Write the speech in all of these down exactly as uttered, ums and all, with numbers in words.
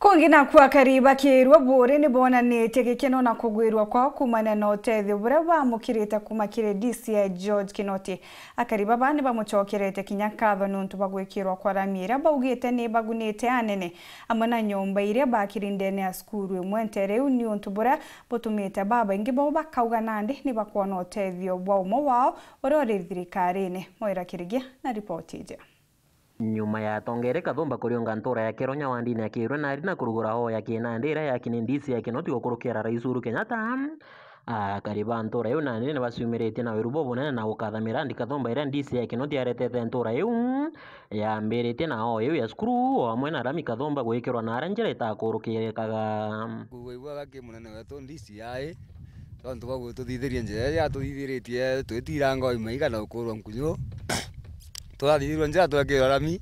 Kungi naku akari ba Kiirua Buuri ni bonanitie gikeno na kugwirua kwao kuumania na utethio buria baamukirite kuuma kiri D C I George Kinoti. Akari baba ni bamucokerete kinya nkatho niuntu bwa gwikirwa kwa rami iria baugite ni ibagunite anene, amwe na nyomba iria baakiri ndene ya cukuru imwe nteere iu, niuntu buria butumite babaingi bao bakauga nandi ni bakwona utethio bwa umwe wao uria uri thirikarine. Moira Kirigia na ripoti iji. Nyuma ya atongeria Kathumba kuriunga ntuura ya Kironya wandini ya Kiirua nari na kurugura hoo ya kinandi iria yaaki ni D C I Kinoti gukurukira Rais Uhuru Kenyatta, akari ba ntuura iu nandi ni baciumiritie na wiru bubunene na gukatha mirandi Kathumba iria D C I Kinoti aretete ntuura iu, yambiritie na hoo iu ya cukuru, o amwe na rami Kathumba gwikirwa na aria njira itakurukirikaga. Kugwa ibwaga ki munene wetu D C I, tontu bwa gututhithiria njira iria atuthithiritie, twitiranga o imaiga na gukurwa nkunyu. Turathithirua njira twekirwa rami,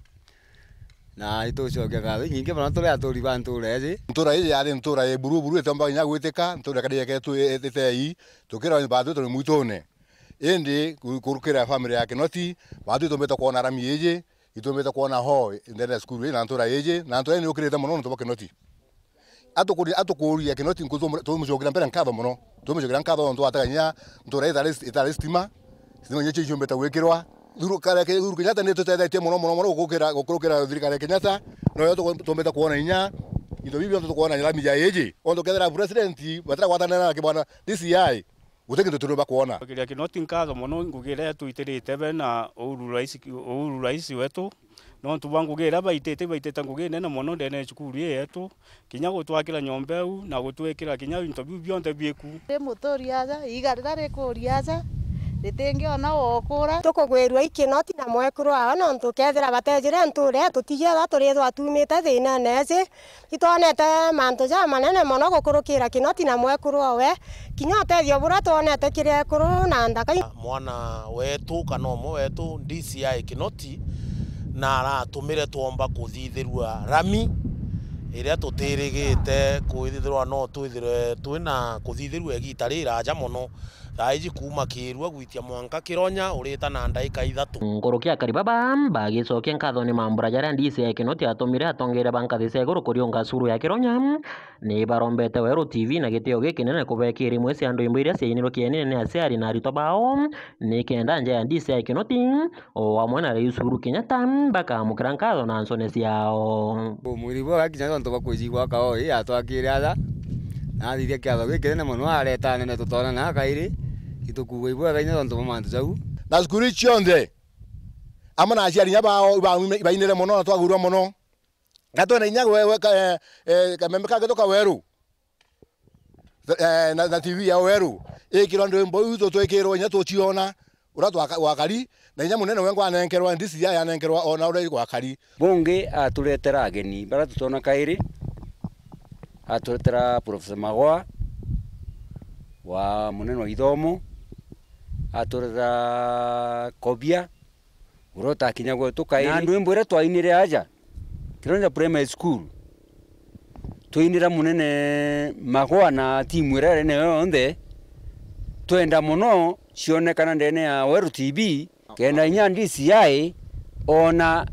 na itucokia ngatho inyingi mono turi aturi ba ntuura iji. Ntuura iji yari ntuura ya buru buru, itiumba kinya gwitika, ntuura ikari yeketwe itei, tukirwa baatwi turi mwitune. Indi ku-, kurukira family ya Kinoti, baatwi itumbite kwona rami iji, itumbite kwona hoo ndene ya cukuru ii na ntuura iji, na ntuura ii ni yukirite mono nontu bwa Kinoti. Atukuri-, atukuria Kinoti nku tumu-, tumucokera mbere nkatho mono. Tumucokera nkatho nontu atega kinya ntuura itari, itari stima, stima inya cio ciumbite gwikirwa. Thuru-, kare ke-, Uhuru Kenyatta ni tutethetie mono, mono, mono gukukira, gukurukira thirikari ya Kenyatta, noyo tu-, tumbite kwona inya into bibi bionthe tukwona rami ja iji. Ontu kethira president batira gwatanira na kibwana D C I, guti kintu turiumba kwona. Kiria Kinoti nkatho mono ngugi iria twitirite be na Uhuru Rais, Uhuru Rais wetu, nontu bwa ngugi iria baitite, baitite ngugi nene mono ndene ya cukuru ii yetu, kinya gutwakira nyomba iu na gutwikira kinya into biu bionthe biku. Ndi muturi aja, iiga riria rikuri aja, ritingiona wokura. Tukugwirua i Kinoti na mwekuru wawe, nontu kethira batejire ntuura ii, tutijethwa turithwa tumite thiinene iji. Itwonete mantu jamanene mono gukurukira Kinoti na mwekuru owe, kinya utethio buria twonete kiri ekuru na nthaka. Mwana wetu kana umwe wetu, D C I Kinoti, na aratumire twomba kuthithirua rami iria tutirigite kwithirwa no twithirwe twina kuthithirua igiita riraja mono. Thaa iji kuuma Kiirua gwitia mwanka Kironya urita na ndaika ithatu. Nkuruki akari baba bagicokia nkatho ni mambura jaria D C I Kinoti atumire atongeria ba nkathi cia iguru kuriunga cukuru ya Kironya, ni barombete Weru T V na gitio gikinene kubekira imwe cia ndwimbo iria ciainirwe kienine ni aciari na aritwa bao, nikenda nja ya D C I Kinoti o amwe na Rais Uhuru Kenyatta bakamukira nkatho na ncone ciao. Mwiri bwa gakinya tontu bwa kwijigwa kao ii atwakire aja, na athithia kiatho gikinene mono, areta anene tutonana kairi, itukugwa ibwega inya tontu bwa mantu jau. Na cukuru ii cionthe, amwe na aciari inya bao, iba-, ibainire mono na twagwirua mono. Na twena inya we, we, ka-, eh, eh, kameme kangĩ tuka Weru. Eh, na, na T V ya Weru ikirwa ndwimbo iu tutwikirwe inya tuciona uria twaka-, gwakari, na inya munene wengwa anenkerwa, D C I anenkerwa ona uria gwakari. Bungi aturetera ageni baria tutona kairi, aturetera Professor Magoa wa munene wa ithomo, aturetera Kobia, uria utakinya gwetu kairi. Na ndwimbo iria twainire aja Kironja Primary School, twainira munene Magoa na timu iria yari nayo yonthe, twenda mono cionekana ndene ya Weru T V, kenda inya D C I ona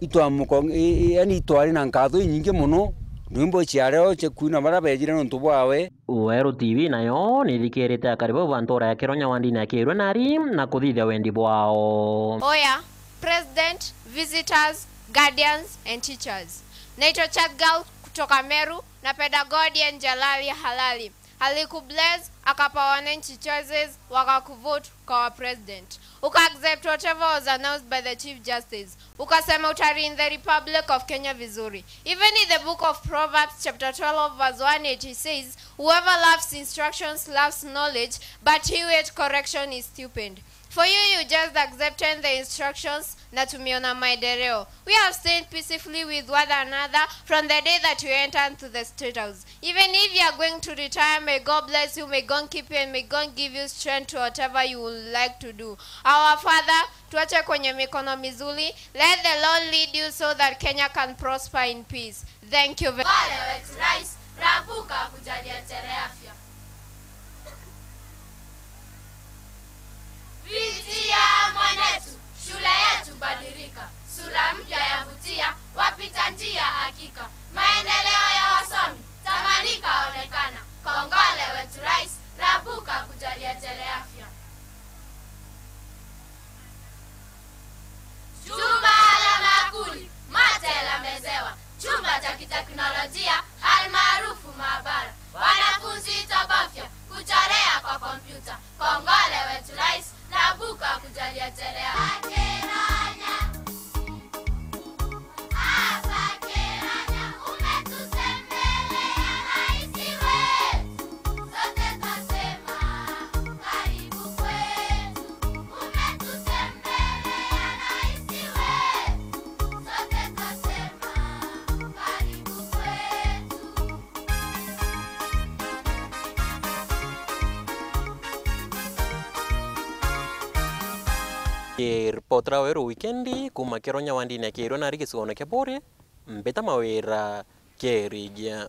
itwamuko-, i-, i-, yani itwari na nkatho inyingi mono, ndwimbo ciario cia kwina baria bejire nontu bwawe. Weru T V nayo nithikirite akari bau ba ntura ya Kironya wandini ya Kiirwe nari na kuthithia wendi bwao. Oya, President, visitors, guardians and teachers. Naitwa Chat Girl kutoka Meru, napenda God and Jalali Halali. Alikubless, akapa wananchi choices, wakakuvote ukawa president. Uka accept whatever was announced by the Chief Justice. Ukasema utari in the Republic of Kenya vizuri. Even in the book of Proverbs chapter twelve verse one, it says, "Whoever loves instructions loves knowledge, but he who hates correction is stupid." For you, you just accepted the instructions na tumeona maendeleo. We have stayed peacefully with one another from the day that you entered to the State House. Even if you are going to retire, may God bless you, may God keep you, and may God give you strength to whatever you would like to do. Our Father, tuache kwenye mikono mizuri. Let the Lord lead you so that Kenya can prosper in peace. Thank you very Pole wetu Rais, rabuka kujalia tere afya. Pitia mwanetu, shule yetu badilika. Sura mpya yavutia, wapita njia hakika. Maendeleo Teknolojia almaarufu maabara, wanafunzi itabafya kuchorea kwa kompyuta. Kongole wetu rais, Nabuka kujalia chelea. Hapa Kenya umetutembelea rais wetu, sote twasema karibu kwetu. Umetutembelea rais wetu, sote twasema karibu kwetu. Ripota ra Weru Wikendi kuuma Kironya wandini ya Kiirwe nari gicigoone kia Buuri, mbita Mawira Kirigia.